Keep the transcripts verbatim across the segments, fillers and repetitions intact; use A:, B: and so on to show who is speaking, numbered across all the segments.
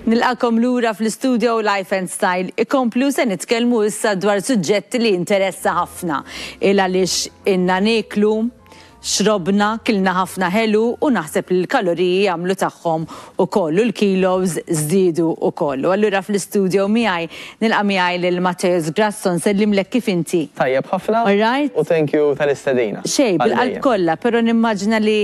A: Nilqagħkom lura fl-studio Life and Style. Ikomplu se nitkellmu issa dwar suġġetti li interessa ħafna. Il għaliex ilna nieklu, xrobna, kilna ħafna ħelu u naħseb li l-kaloriji jagħmlu tagħhom ukoll u l-kilos żdiedu ukoll. U allura fl-studio miegħi nilqa' miegħi lil Matteus Grasso. Nsellimlek, kif inti?
B: Tajjeb ħafna.
A: All right.
B: U thank you tal-istedina.
A: Xej, bil-qalb kollha, però nimmaġina li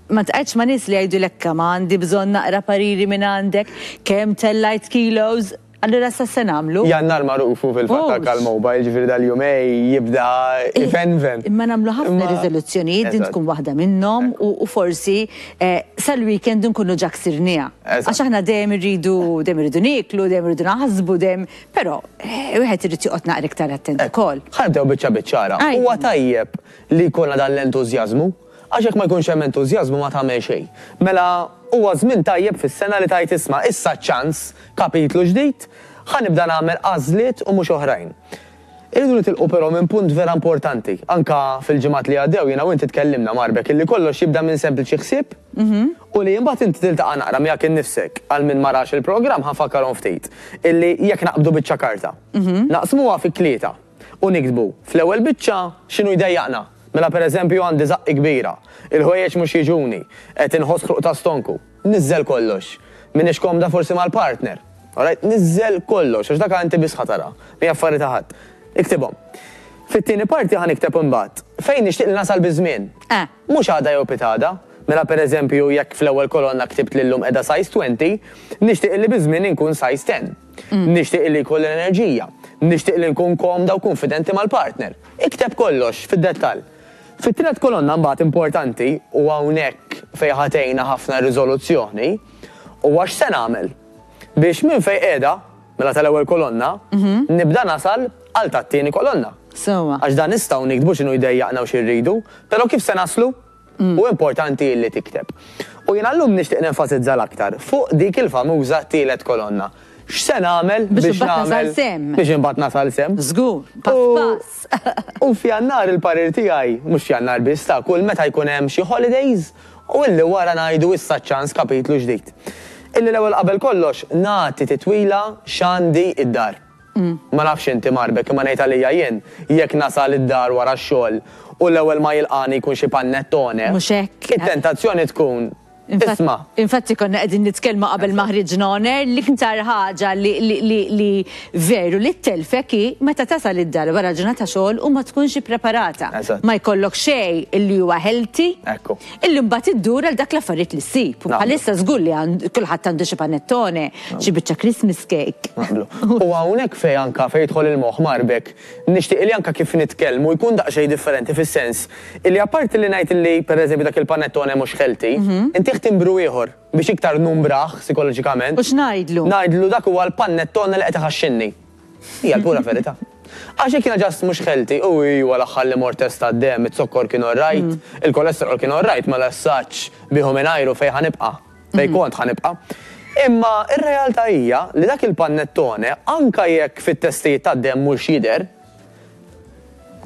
A: ma tqgħedx ma' nies li jgħidu lekka ma għandi bżonn naqra pariri minn għandek, kemm tellajt kilos, allura sa se nagħmlu?
B: Jannar magħrufu fil-fatt
A: Mhux.
B: għal-mobile, ġifieri dal-jumejn jibda ifenven.
A: Imma nagħmlu ħafna
B: Imma-
A: riżoluzzjonijiet, din
B: Eżatt.
A: tkun waħda minnhom u, u forsi eh, sal-weekend nkunu ġa ksirnieha.
B: Eżatt.
A: Għax aħna dejjem irridu dejjem irridu nieklu, dejjem irridu naħsbu, dejjem, però eh, wieħed irid joqgħod naqra iktar attent ukoll.
B: Ħa nibdew biċċa biċċara.
A: Ajja.
B: Huwa tajjeb li jkollna dan l-entużjażmu, għax jekk ma jkunx hemm entużjażmu ma tagħmel xejn. Mela huwa żmien tajjeb fis-sena li tajt isma' issa ċans kapitlu ġdid, ħa nibda nagħmel għażliet u mhux oħrajn. Irridu nitilqu però minn punt vera importanti. Anka fil-ġimgħat li għaddew jiena u inti tkellimna marbek illi kollox jibda minn sempliċi ħsieb u li imbagħad inti tiltaqa' naqra miegħek innifsek. Għal min ma rax il-programm ħa nfakkarhom ftit. Illi jekk naqbdu biċċa karta, naqsmuha fi tlieta u niktbu fl-ewwel biċċa x'inhu jdejjaqna. Mela, per eżempju, għandi żaqqi kbira, il-ħwejjeġ mhux jiġuni, qed inħoss ħruq ta' stonku. Niżżel kollox. Minix komda forsi mal-partner. Alright, niżżel kollox, għax dak inti biss ħa tara, mi affari ta' ħadd. Iktibhom. Fit-tieni parti ħa nikteb imbagħad fejn nixtieq li nasal biż-żmien.
A: Eh.
B: Mhux għada jew pitgħada. Mela, per eżempju, jekk fl-ewwel kolonna ktibt li llum qiegħda size għoxrin, nixtieq li biż-żmien inkun size għaxra. Nixtieq li jkolli l-enerġija. Nixtieq li nkun komda u konfidenti mal-partner. Ikteb kollox fid-dettall. Fit-tielet kolonna mbagħad importanti, u hawnhekk fejn ħa tgħinna ħafna riżoluzzjoni, u għax se nagħmel biex minn fejn qiegħda, mela tal-ewwel kolonna, nibda nasal għal tat-tieni kolonna.
A: Sewwa.
B: Għax dan nistgħu niktbu x'inhu jdejjaqna u xi rridu, però kif se naslu? U importanti li tikteb. U jiena llum nixtieq nenfasizza l-aktar fuq dik il-famuża tielet kolonna. X'se nagħmel
A: biex
B: biex
A: imbagħad nasal
B: nagħmel
A: s'hemm.
B: Biex imbagħad nasal s'hemm.
A: Żgur, pass
B: U-
A: pass.
B: U f'Jannar il-parir tiegħi, mhux f'Jannar biss ta' kull meta jkun hemm xi holidays u illi wara ngħidu issa ċans kapitlu ġdid. Illi l-ewwel qabel kollox nagħti titwila x'għandi id-dar. Ma nafx inti marbek, imma ngħid għalija jien, jekk nasal id-dar wara x-xogħol u l-ewwel ma jilqani jkun xi panettone.
A: Mhux hekk.
B: It-tentazzjoni tkun
A: Infatti-
B: isma'
A: Infatti konna qegħdin nitkellmu qabel ma ħriġna on air, l-iktar ħaġa li, li, li, li veru li telfek hi meta tasal id-dar wara ġurnata xogħol u ma tkunx ippreparata.
B: Eżatt.
A: Ma jkollok xejn illi huwa healthy.
B: Ekku.
A: Illi mbagħad iddur għal dak l-affarijiet li ssib. U
B: Naqblu.
A: bħalissa żgur li għand- kulħadd għandu xi panettone, xi biċċa Christmas cake.
B: Naqblu. U hawnhekk fej anka fej jidħol il-moħħ marbek, nixtieq li anka kif nitkellmu jkun daqsxejn differenti, fis-sens illi apparti li ngħid li, pereżempju, dak il-panettone mhux healthy, inti timbru ieħor biex iktar numbraħ psikoloġikament.
A: U x'ngħidlu?
B: Ngħidlu dak huwa l-panettone li qed iħaxxinni. Hija l-pura verità. Għax jekk jiena just mhux healthy, u iwa l-aħħar li mort test tad-demm, it-zokkor kien alright, il-kolesterol kien alright, ma l-assaċ biħu minn fejn ħa nibqa', fejn kont ħa nibqa'. Imma ir-realtà hija li dak il-panettone, anka jekk fit-testijiet tad-demm mhux jidher,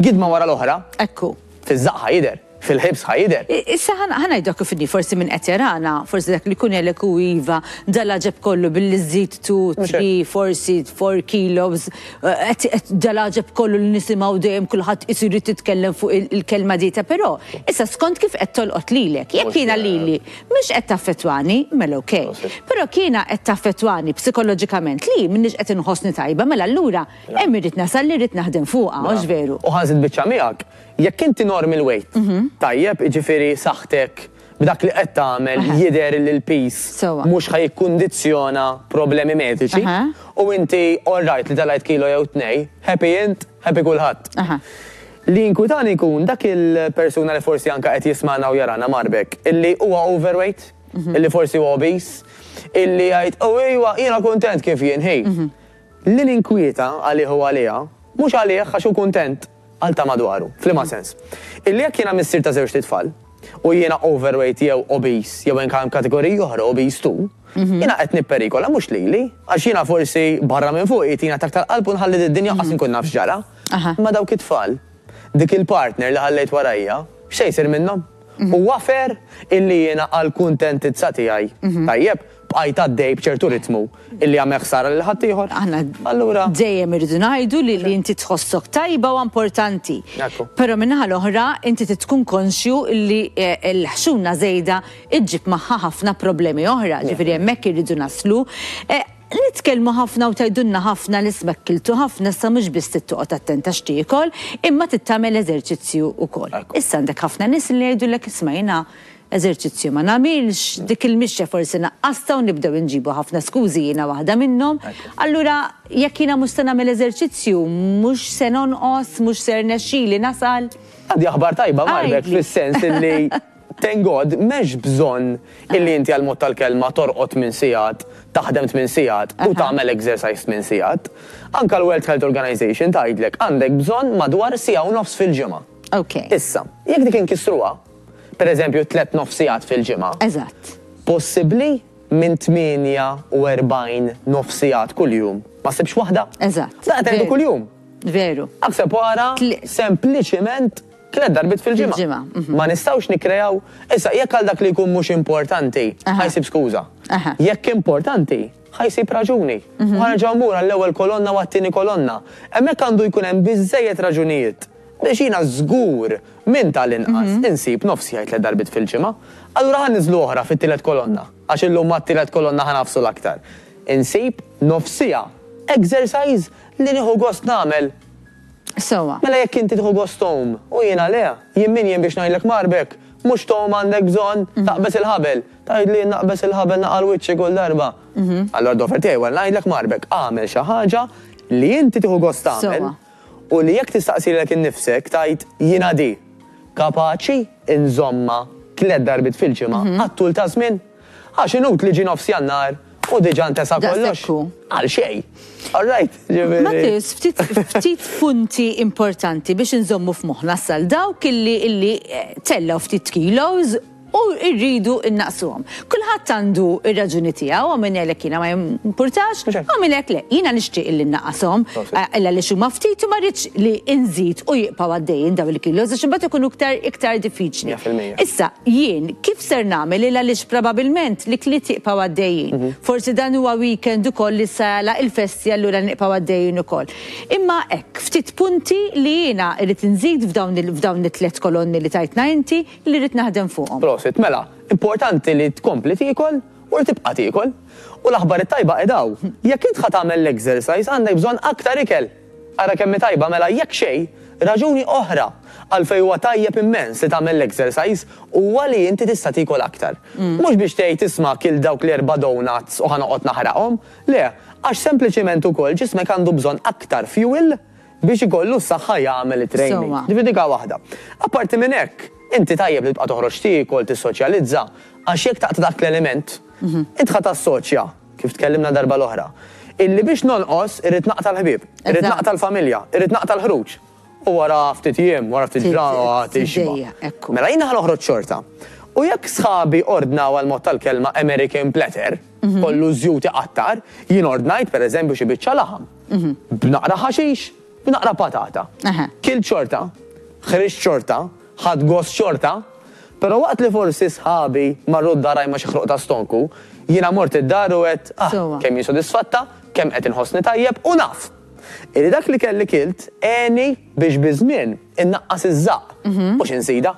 B: gidma wara l-oħra,
A: Ekku.
B: fiż-żaqq ħa jidher, fil-ħibs ħa jidher.
A: I- Issa ħa ngħidu kif inhi, forsi minn qed jarana, forsi dak li kun jgħidlek u iva, dal-għaġeb kollu billi żżid tnejn,
B: Mhux
A: tlieta, forsi erba' kilos, eh, qed- qed dal-għaġeb kollu li nisimgħu dejjem kulħadd isir titkellem fuq il- il-kelma dieta, però issa skont kif qed tolqot lilek, jekk
B: Mhux
A: jiena
B: vera.
A: lili mhux qed taffettwani, mela okej.
B: Prosit.
A: Però kiena qed taffettwani psikoloġikament li m'iniex qed inħossni tajba, mela allura hemm irrid nasal li rrid naħdem fuqha, mhux veru?
B: U ħa nżid biċċa miegħek, jekk inti normal weight, tajjeb, jiġifieri saħħtek b'dak li qed tagħmel
A: Aha.
B: jidher li l-piż
A: Sewwa.
B: mhux ħa jikkundizzjona problemi mediċi
A: Aha.
B: u inti all right li telajt kilo jew tnej, happy int, happy kulħadd.
A: Aha.
B: Li inkwitani jkun dak il-persuna li forsi anka qed jismana u jarana marbek, illi huwa overweight, illi forsi huwa obese, illi jgħid, "Oh ejwa, jiena kuntent kif jien, hey." Li ninkwieta għalih u għaliha, mhux għalih għax hu kuntent, għal ta' madwaru, f'liema sens? Illi jekk jiena missier ta' żewġt itfal u jiena overweight jew obese jew hemm kategoriji oħra obese too, jiena qed nipperikola mhux lili, għax jiena forsi barra minn fuq jitina taktar qalb u nħalli d-dinja qas nkun naf x'ġara.
A: Aha.
B: Ma dawk it-tfal, dik il-partner li ħallejt warajja, x'se jsir minnhom? U wafer illi jiena għal kuntentizza tiegħi. Tajjeb, bqajt għaddej b'ċertu ritmu illi għamel ħsara lil ħaddieħor.
A: Aħna
B: Allura
A: dejjem irridu ngħidu li li inti tħossok tajba u importanti.
B: Ekku.
A: Però min-naħa l-oħra inti tkun konxju li eh, l-ħxuna żejda iġġib magħha ħafna problemi oħra, ġifieri hemmhekk irridu naslu. Eh, Nitkellmu ħafna u tgħidulna ħafna li isma' kiltu ħafna, issa mhux biss toqgħod attenta x'tiekol, imma tagħmel eżerċizzju wkoll.
B: Ekku.
A: Issa għandek ħafna nies li jgħidulek, isma', jiena eżerċizzju ma nagħmilx, dik il-mixja forsi naqqasta, u nibdew inġibu ħafna skużi, jiena waħda minnhom. Allura jekk jiena mhux se nagħmel eżerċizzju, mhux se nonqos, mhux se rnexxili nasal.
B: Għandi aħbar tajba, Marbek,
A: Għidli.
B: fis-sens illi thank God m'hemmx bżonn illi inti għal mod tal-kelma torqod tmien sigħat, taħdem tmien sigħat u
A: Aha.
B: tagħmel exercise tmien sigħat. Anka l-World Health Organization tgħidlek għandek bżonn madwar siegħa u nofs fil-ġimgħa.
A: Ok.
B: Issa, jekk dik inkissruha, per eżempju tliet nofs sigħat fil-ġimgħa,
A: Eżatt.
B: possibbli minn tmienja u erbgħin nofs sigħat kuljum ma ssibx waħda?
A: Eżatt.
B: Da qed ngħidu
A: Veru.
B: kuljum.
A: Veru.
B: Aħseb wara
A: Tli-
B: sempliċiment tliet darbiet fil-ġimgħa.
A: Fil-ġimgħa, mhm.
B: Ma nistgħux nikkrejaw. Issa jekk għal dak li jkun mhux importanti,
A: Aha.
B: ħa jsib skuża.
A: Aha.
B: Jekk importanti, ħa jsib raġuni. U ħa nerġgħu mmur għall-ewwel kolonna u għat-tieni kolonna. Hemmhekk għandu jkun hemm biżejjed raġunijiet biex jiena żgur minn tal-inqas insib nofs siegħa tliet darbiet fil-ġimgħa. Allura ħa niżlu oħra fit-tielet kolonna, għax illum mat-tielet kolonna ħa nagħfsu l-aktar. Insib nofs siegħa exercise li nieħu gost nagħmel.
A: Sewwa.
B: Mela jekk inti tieħu gost tgħum u jiena le, jien min jien biex ngħidlek, Marbek, mhux tgħum, għandek bżonn taqbeż il-ħabel. Tgħidli naqbeż il-ħabel naqa' wiċċi kull darba. Allora d-dover tiegħi wara ngħidlek, Marbek, agħmel xi ħaġa li inti tieħu gost tagħmel
A: Sewwa.
B: u li jekk tistaqsi lilek innifsek tgħid jiena di kapaċi inżomma tliet darbiet fil-ġimgħa għat-tul ta' żmien. Għax inutli ġi nofs Jannar u diġà ntesa kollox.
A: Daqshekk hu.
B: Għal xejn. All right, ġifieri.
A: Matteus, ftit, ftit punti importanti biex nżommu f'moħħna sal dawk illi illi eh, tellaw ftit kilos u rridu innaqsuhom. Kulħadd għandu ir-raġuni tiegħu, u min jgħidlek jiena ma jimpurtax,
B: Mhux hekk.
A: u min jgħidlek le, jiena nixtieq illi nnaqqashom,
B: Prosit.
A: eh, illa li xhuma ftit u ma rridx li nżid u jibqgħu għaddejjin daw il-kilos għax imbagħad ikunu iktar iktar diffiċli.
B: Mija fil-mija.
A: Issa, jien kif ser nagħmel, illa għaliex probabbilment li l-ikliet jibqgħu għaddejjin?
B: Mhm.
A: Forsi dan huwa weekend ukoll li sala il-festi, allura nibqgħu għaddejjin ukoll. Imma hekk, ftit punti li jiena irrid nżid f'dawn il- f'dawn it-tliet kolonni li tajtna inti li rrid naħdem fuqhom.
B: Prosit, mela, importanti li tkompli tiekol u li tibqa' tiekol. U l-aħbar it-tajba edaw, jekk int ħa tagħmel l-exercise għandek bżonn aktar ikel. Ara kemm hi tajba, mela jekk xejn, raġuni oħra għalfejn huwa tajjeb immens li tagħmel l-exercise huwa li inti tista' tiekol aktar. Mhux biex tgħid isma' kilt dawk l-erba' donuts u ħa noqgħod naħraqhom, le, għax sempliċiment ukoll ġismek għandu bżonn aktar fuel biex ikollu s-saħħa jagħmel it-training.
A: Sewwa.
B: Ġifieri dik waħda. Apparti minn hekk, inti tajjeb li tibqa' toħroġ tiekol, tissoċjalizza, għax jekk taqta' dak l-element, int ħa tassoċja, kif tkellimna darba l-oħra, illi biex nonqos irrid naqta' l-ħbieb, irrid
A: Eżatt.
B: naqta' l-familja, irrid naqta' l-ħruġ. U wara ftit jiem, wara ftit
A: Tit-
B: ġranet, tixba'.
A: tiddejjaq, ekku.
B: Mela jiena ħa noħroġ xorta. U jekk sħabi ordnaw għal mod tal-kelma American platter, kollu żjut iqattar, jien ordnajt per eżempju xi biċċa laħam. B'naqra ħaxix, b'naqra patata.
A: Aha.
B: Kilt xorta, ħriġt xorta, ħadt gost xorta, pero waqt li forsi sħabi marru d-dar ma xi ħruq ta' stonku, jiena mort id-dar u għedt, ah,
A: Sewwa.
B: kemm jien sodisfatta, kemm qed inħossni tajjeb u naf illi dak li kelli kilt għeni biex biż-żmien innaqqas iż-żaq, mhux insida.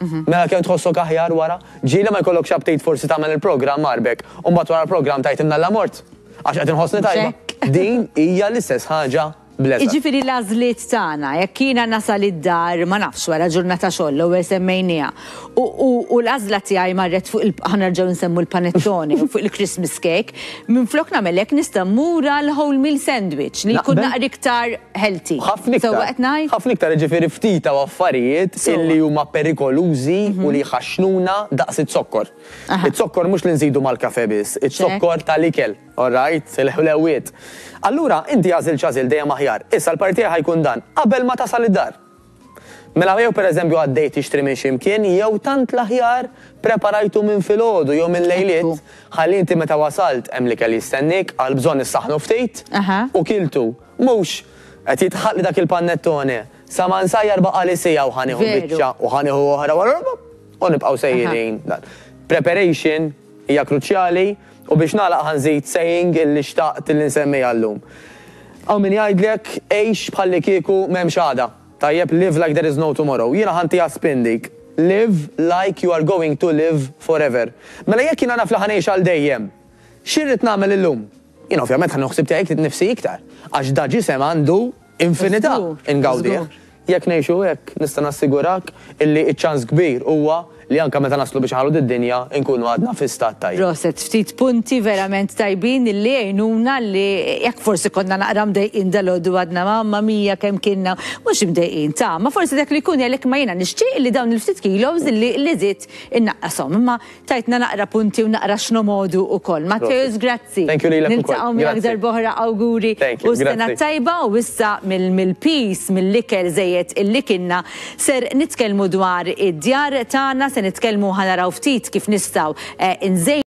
B: Mela kemm tħossok aħjar wara, ġieli ma jkollokx aptit forsi tagħmel il-programm, Marbek, u mbagħad wara l-programm tgħid imnalla mort għax qed inħossni tajba.
A: Check.
B: Din hija l-istess ħaġa bl-eżatt.
A: Iġifieri l-għażliet tagħna, jekk jiena nasal id-dar, ma nafx, wara ġurnata xogħol, l-ewwel semmejniha. U, u, u l-għażla tiegħi marret fuq il ħa nerġgħu nsemmu l-panettone u fuq il-Christmas cake, minflok nagħmel hekk nista' mmur għal whole meal sandwich li jkun
B: Naqbel.
A: naqra iktar healthy.
B: Ħafna iktar.
A: Sewwa qed ngħid?
B: Ħafna iktar, ġifieri ftit u affarijiet
A: Sewwa.
B: illi huma perikolużi u li jħaxnuna daqs it-zokkor.
A: Aha.
B: It-zokkor mhux li nżidu mal-kafe biss, it-zokkor tal-ikel, all right, il-ħlewiet. Allura inti għażil x'għażil dejjem aħjar. Issa l-partija ħa jkun dan qabel ma tasal id-dar. Mela jew pereżempju għaddejt tixtri minn ximkien jew tant l-aħjar preparajtu minn filgħodu jew minn lejliet,
A: Ekku.
B: ħalli inti meta wasalt hemm l-ikel jistennik, għal bżonn issaħnu ftit
A: Aha.
B: u kiltu. Mhux qed jitħalli dak il-panettone sa ma nsajjar baqa' li siegħa u ħa nieħu
A: Veru.
B: biċċa u ħa nieħu oħra wara u nibqgħu sejrin dan. Preparation hija kruċjali U biex nagħlaq, ħa nżid saying illi xtaqt illi nsemmi għallum. Hawn min jgħidlek għix bħalli kieku m'hemmx għada. Tajjeb, "Live like there is no tomorrow." Jiena ħa ntiha spin dik. "Live like you are going to live forever." Mela jekk jiena naf li ħa ngħix għal dejjem, x'irrid nagħmel illum? Jiena ovvjament ħa naħseb tiegħi nifsi iktar. Għax da ġisem għandu infinità ingawdih. Jekk ngħixu hekk, nista' nassigurak illi iċ-ċans kbir huwa li anka meta naslu biex ħalu d-dinja nkunu għadna fi stat tajjeb.
A: Proset, ftit punti verament tajbin li jgħinuna li jekk forsi konna naqra mdejqin dalgħodu, għadna "Mamma mia, kemm kienna", mhux mdejqin ta' ma forsi dak li jkun jgħalek ma jiena nixtieq li dawn il-ftit kilos li li żidt innaqqashom. Imma tajtna naqra punti u naqra x'nomogħdu ukoll. Matteus, grazzi.
B: Thank you lilek ukoll.
A: Niltaqgħu miegħek
B: Grazzi.
A: darb'oħra, awguri
B: Thank you,
A: u sena
B: grazzi.
A: tajba. U issa mill-peace, mill-ikel żejjed illi kienna, ser nitkellmu dwar id-djar tagħna, se nitkellmu, ħa naraw ftit kif nistgħu eh, inżejnu